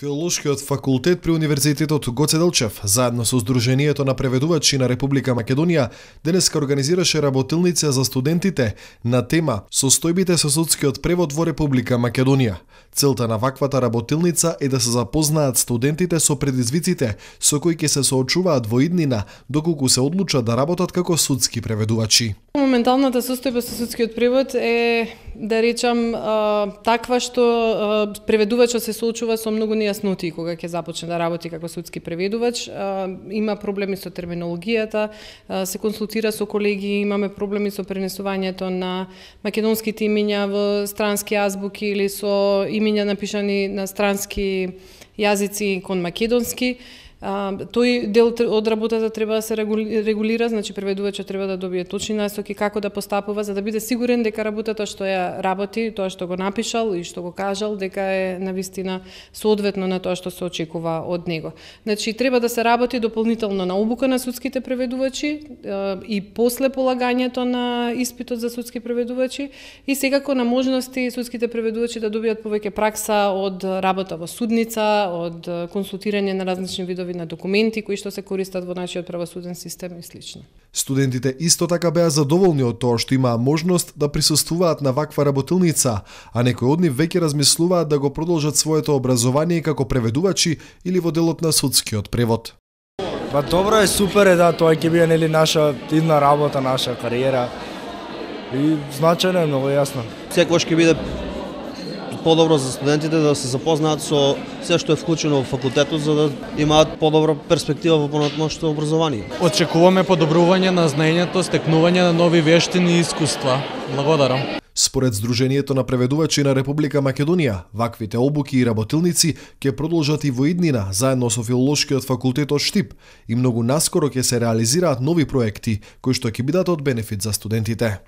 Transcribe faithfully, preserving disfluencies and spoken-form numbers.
Филолошкиот факултет при Универзитетот Гоце Делчев, заедно со Сдруженијето на преведувачи на Република Македонија, денеска организираше работилница за студентите на тема Состојбите со судскиот превод во Република Македонија. Целта на ваквата работилница е да се запознаат студентите со предизвиците со кои ќе се соочуваат во иднина доколку се одлучат да работат како судски преведувачи. Моменталната состојба со судскиот превод е, да речам, таква што преведувачот се соочува со многу нејаснотии кога ќе започне да работи како судски преведувач. Има проблеми со терминологијата, се консултира со колеги, имаме проблеми со пренесувањето на македонските имиња во странски азбуки или со имиња напишани на странски јазици кон македонски. Uh, тој дел од работата треба да се регулира, значи преведувачот треба да добие точни насоки како да постапува за да биде сигурен дека работата што ја работи, тоа што го напишал и што го кажал, дека е навистина соодветно на тоа што се очекува од него. Значи треба да се работи дополнително на обука на судските преведувачи uh, и после полагањето на испитот за судски преведувачи и секако на можности судските преведувачи да добијат повеќе пракса од работа во судница, од консултирање на различни видови на документи кои што се користат во нашиот правосуден систем и слично. Студентите исто така беа задоволни од тоа што имаа можност да присуствуваат на ваква работилница, а некои од нив веќе размислуваат да го продолжат своето образование како преведувачи или во делот на судскиот превод. Па добро е, супер е, да, тоа ќе биде нели наша идна работа, наша кариера. И значајно е, многу јасно. Секогаш ќе биде подобро за студентите да се запознаат со се што е вклучено во факултетот за да имаат подобра перспектива во понатамошното образование. Очекуваме подобрување на знаењето, стекнување на нови вештини и искуства. Благодарам. Според Сдруженијето на преведувачи на Република Македонија, ваквите обуки и работилници ќе продолжат и во иднина заедно со Филолошкиот факултет од Штип и многу наскоро ќе се реализираат нови проекти кои што ќе бидат од бенефит за студентите.